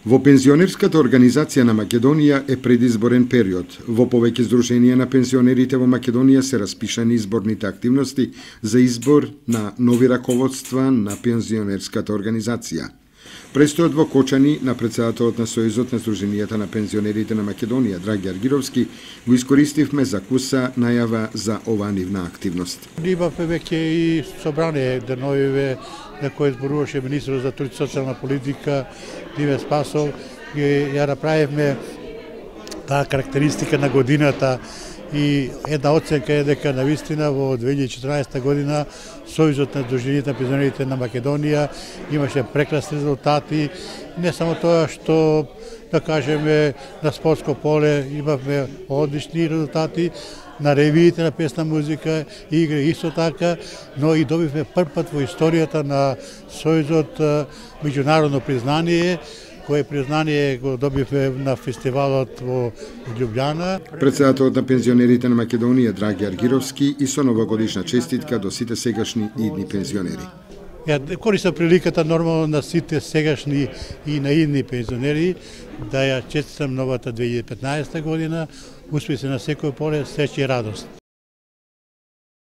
Во пензионерската организација на Македонија е предизборен период. Во повеќе здруженија на пензионерите во Македонија се распишани изборните активности за избор на нови раководства на пензионерската организација. Престојот во Кочани на претседателот на Сојузот на здруженијата на пензионерите на Македонија, Драги Аргировски, го искористивме за куса најава за оваа нивна активност. Имавме веќе и собрание деновиве на кој зборуваше министерот за труд и социјална политика Диве Спасов, и ја направивме таа карактеристика на годината и една оценка е дека навистина во 2014 година Сојузот на здруженијата на пензионерите на Македонија имаше прекрасни резултати, не само тоа што да кажеме на спортско поле имавме одлични резултати, на ревиите на песна музика и игри исто така, но и добивме прв пат во историјата на Сојузот меѓународно признание, кое признание го добивме на фестивалот во Љубљана. Претседателот на пензионерите на Македонија, Драги Аргировски, и со новогодишна честитка до сите сегашни и идни пензионери. Ја користам приликата нормално на сите сегашни и на идни пензионери да ја честитам новата 2015 година, успеси на секој поле, среќа и радост.